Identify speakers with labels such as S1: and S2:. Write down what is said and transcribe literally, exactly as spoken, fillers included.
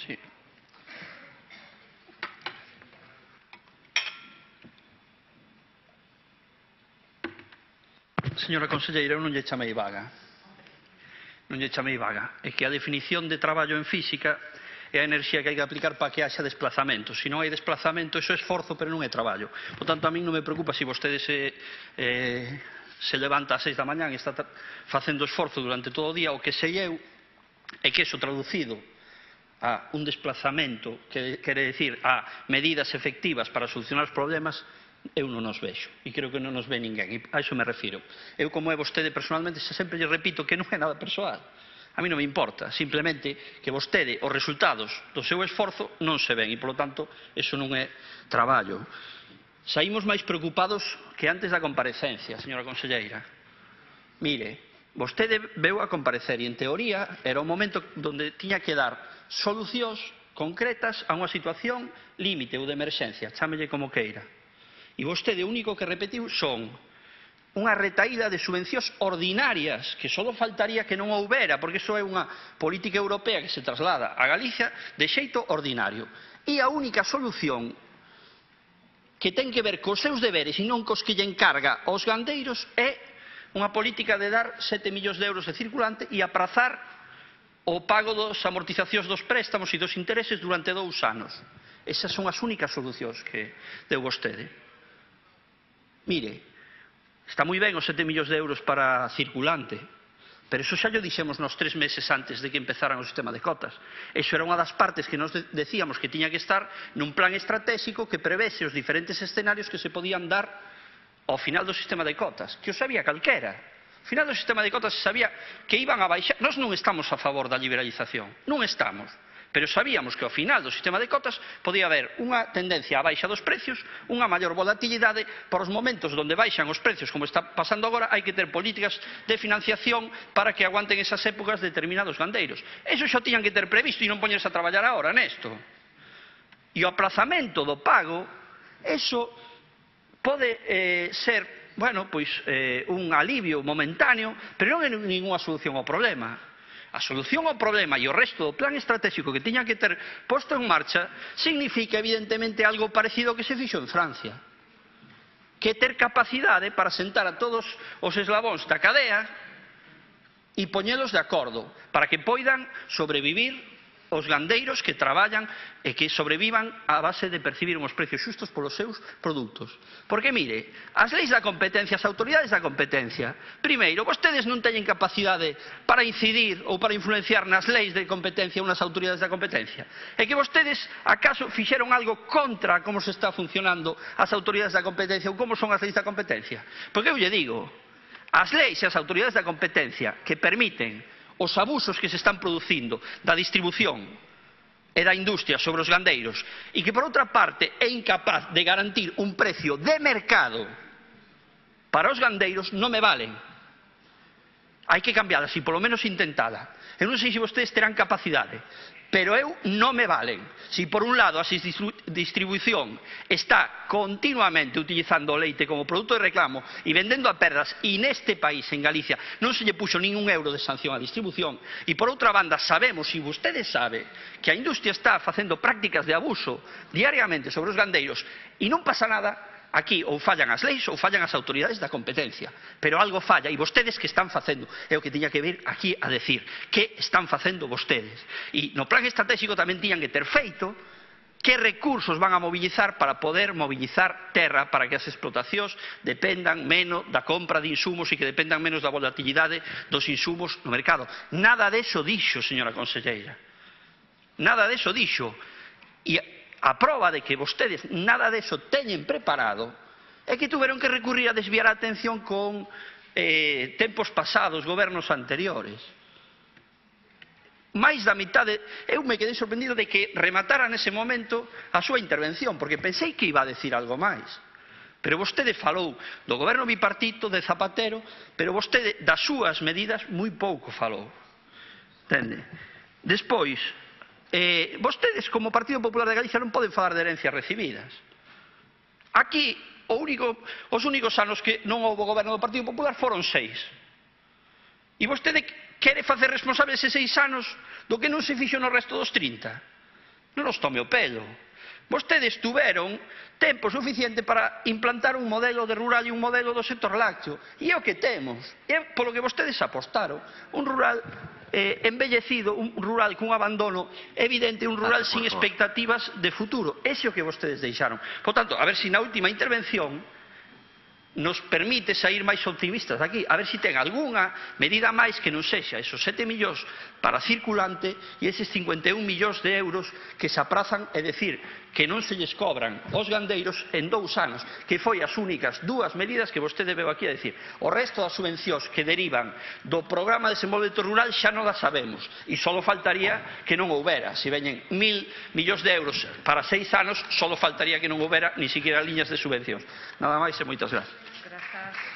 S1: Sí. Señora conselleira, eu non lle chamei vaga. Non lle chamei vaga. É que a definición de traballo en física é a enerxía que hai que aplicar para que haxa desplazamento. Se non hai desplazamento, iso é esforzo, pero non é traballo. Por tanto, a min non me preocupa se vostede se, eh, se levanta ás seis da mañán e está facendo esforzo durante todo o día. O que sei eu é que iso traducido a un desplazamento, que quere decir a medidas efectivas para solucionar os problemas, eu non nos vexo, e creo que non nos ve ninguén, e a iso me refiro. Eu, como é vostede personalmente, sempre lle repito que non é nada persoal. A mí non me importa, simplemente que vostede, os resultados do seu esforzo non se ven, e, polo tanto, iso non é traballo. Saímos máis preocupados que antes da comparecencia, señora conselleira. Mire, vostede veu a comparecer e, en teoría, era o momento onde tiña que dar solucións concretas a unha situación límite ou de emerxencia, chámelle como queira. E vostede o único que repetiu son unha retaída de subvencións ordinarias, que só faltaría que non houbera, porque iso é unha política europea que se traslada a Galicia de xeito ordinario. E a única solución que ten que ver cos seus deberes e non cos que lle encarga aos gandeiros é unha política de dar sete millóns de euros de circulante e aprazar o pago das amortizacións dos préstamos e dos intereses durante dous anos. Esas son as únicas solucións que deu vostede. Mire, está moi ben os sete millóns de euros para circulante, pero eso xa lo dixemos nos tres meses antes de que empezaran o sistema de cotas. Eso era unha das partes que nos decíamos que tiña que estar nun plan estratégico que prevese os diferentes escenarios que se podían dar ao final do sistema de cotas, que o sabía calquera. Ao final do sistema de cotas se sabía que iban a baixar. Nós non estamos a favor da liberalización, non estamos. Pero sabíamos que ao final do sistema de cotas podía haber unha tendencia á baixa dos precios, unha maior volatilidade. Por os momentos onde baixan os precios, como está pasando agora, hai que ter políticas de financiación para que aguanten esas épocas determinados gandeiros. Eso xa tiñan que ter previsto e non poñerse a traballar agora nesto. E o aplazamento do pago, eso pode eh, ser, bueno, pois eh, un alivio momentáneo, pero non é ninguna solución ao problema. A solución ao problema e o resto do plan estratégico que tiña que ter posto en marcha significa, evidentemente, algo parecido ao que se fixo en Francia. Que ter capacidade para sentar a todos os eslabóns da cadea e poñelos de acordo para que poidan sobrevivir os gandeiros que traballan e que sobrevivan a base de percibir uns precios xustos polos seus produtos. Porque, mire, as leis da competencia, as autoridades da competencia, primeiro, vostedes non teñen capacidade para incidir ou para influenciar nas leis de competencia unhas autoridades da competencia. É que vostedes, acaso, fixeron algo contra como se está funcionando as autoridades da competencia ou como son as leis da competencia? Porque eu lle digo, as leis e as autoridades da competencia que permiten os abusos que se están producindo da distribución e da industria sobre os gandeiros e que, por outra parte, é incapaz de garantir un precio de mercado para os gandeiros, non me valen. Hai que cambialas e, polo menos, intentala. Eu non sei se vostedes terán capacidade, pero eu non me valen. Si, por un lado, a distribución está continuamente utilizando o leite como produto de reclamo e vendendo a perdas, e neste país, en Galicia, non se lle puxo ningún euro de sanción á distribución, e, por outra banda, sabemos, e vostedes sabe, que a industria está facendo prácticas de abuso diariamente sobre os gandeiros, e non pasa nada. Aquí ou fallan as leis ou fallan as autoridades da competencia, pero algo falla, e vostedes que están facendo, é o que tiña que vir aquí a decir, que están facendo vostedes. E no plan estratégico tamén tiñan que ter feito que recursos van a mobilizar para poder mobilizar terra para que as explotacións dependan menos da compra de insumos e que dependan menos da volatilidade dos insumos no mercado. Nada deso dixo, señora conselleira. Nada deso dixo. E a proba de que vostedes nada deso teñen preparado é que tuveron que recurrir a desviar a atención con eh, tempos pasados, gobernos anteriores. Máis da mitade, eu me quedei sorprendido de que rematara nese momento a súa intervención, porque pensei que iba a decir algo máis. Pero vostede falou do goberno bipartito, de Zapatero, pero vostede das súas medidas moi pouco falou. Entende? Despois, Eh, vostedes, como Partido Popular de Galicia, non poden falar de herencias recibidas. Aquí, o único, os únicos anos que non houve goberno do Partido Popular foron seis. E vostede quere facer responsables eses seis anos do que non se fixo no resto dos trinta. Non nos tome o pelo. Vostedes tuveron tempo suficiente para implantar un modelo de rural e un modelo do sector lácteo. E é o que temos. É polo que vostedes apostaron. Un rural eh, embellecido, un rural cun abandono evidente, un rural sin expectativas de futuro. Ese é o que vostedes deixaron. Por tanto, a ver se na última intervención nos permite sair máis optimistas daqui, a ver se ten algunha medida máis que non sexa esos sete millóns para circulante e eses cincuenta e un millóns de euros que se aprazan, é dicir, que non se lles cobran aos gandeiros en dous anos, que foi as únicas dúas medidas que vostede veu aquí a dicir. O resto das subvencións que derivan do programa de desenvolvemento rural xa non las sabemos, e só faltaría que non houbera. Se veñen mil millóns de euros para seis anos, só faltaría que non houbera ni siquiera liñas de subvencións. Nada máis e moitas gracias.
S2: Gracias.